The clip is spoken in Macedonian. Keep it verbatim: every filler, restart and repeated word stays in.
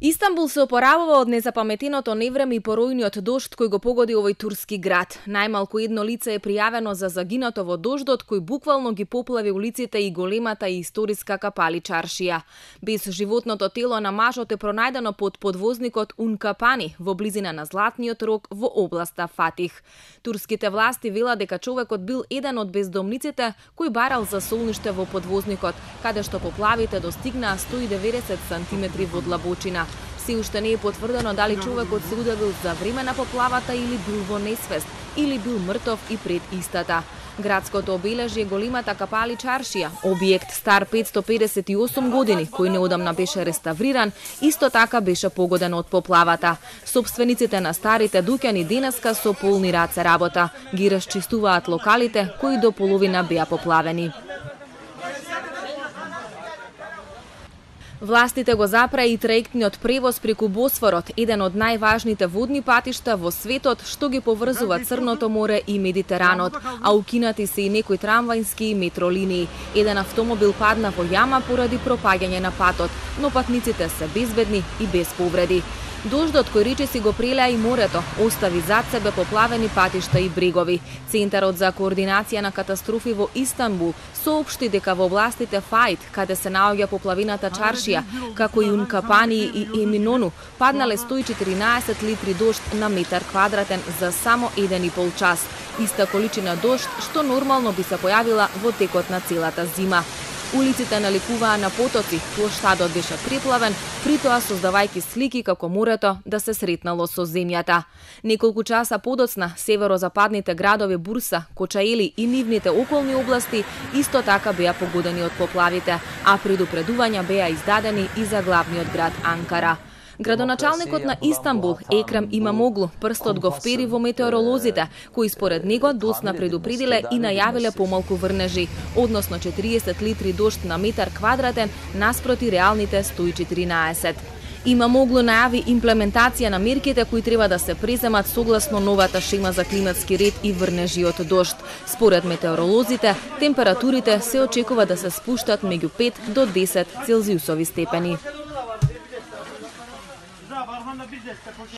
Истанбул се опоравува од незапаметеното невреме и поројниот дожд кој го погоди овој турски град. Најмалку едно лице е пријавено за загинато во дождот кој буквално ги поплави улиците и големата и историска Капали чаршија. Без животното тело на мажот е пронајдено под подвозникот Ункапани во близина на Златниот рог во областа Фатих. Турските власти велат дека човекот бил еден од бездомниците кој барал за солниште во подвозникот, каде што поплавите достигнаа сто и деветдесет сантиметри во длабочина. Се уште не е потврдено дали човекот се удавил за време на поплавата или бил во несвест, или бил мртов и пред истата. Градското обележје големата Капали чаршија, објект стар петсто педесет и осум години, кој неодамна беше реставриран, исто така беше погоден од поплавата. Собствениците на старите дуќани денеска со полни раце работа. Ги расчистуваат локалите кои до половина беа поплавени. Властите го запра и траектниот превоз преку Босфорот, еден од најважните водни патишта во светот што ги поврзува Црното море и Медитеранот, а укинати се и некои трамвајски и метро линии. Еден автомобил падна во јама поради пропаѓање на патот, но патниците се безбедни и без повреди. Дождот кој речиси го прелеа и морето, остави зад себе поплавени патишта и брегови. Центарот за координација на катастрофи во Истанбул соопшти дека во областите Фајт, каде се наоѓа поплавината чаршија, како и Ункапани и Еминону, паднале сто и четиринаесет литри дожд на метар квадратен за само еден и пол час. Иста количина дожд што нормално би се појавила во текот на целата зима. Улиците наликуваа на потоци, плоштадот беше преплавен, притоа создавајќи слики како морето да се сретнало со земјата. Неколку часа подоцна, северозападните градови Бурса, Кочаели и нивните околни области исто така беа погодени од поплавите, а предупредувања беа издадени и за главниот град Анкара. Градоначалникот на Истанбул, Екрем Имамоглу, прстот го впери во метеоролозите, кои според него доцна предупредиле и најавиле помалку врнежи, односно четириесет литри дожд на метар квадратен наспроти реалните сто и четиринаесет. Имамоглу најави имплементација на мерките кои треба да се преземат согласно новата шема за климатски ред и врнежи од дожд. Според метеоролозите, температурите се очекува да се спуштат меѓу пет до десет целзиусови степени.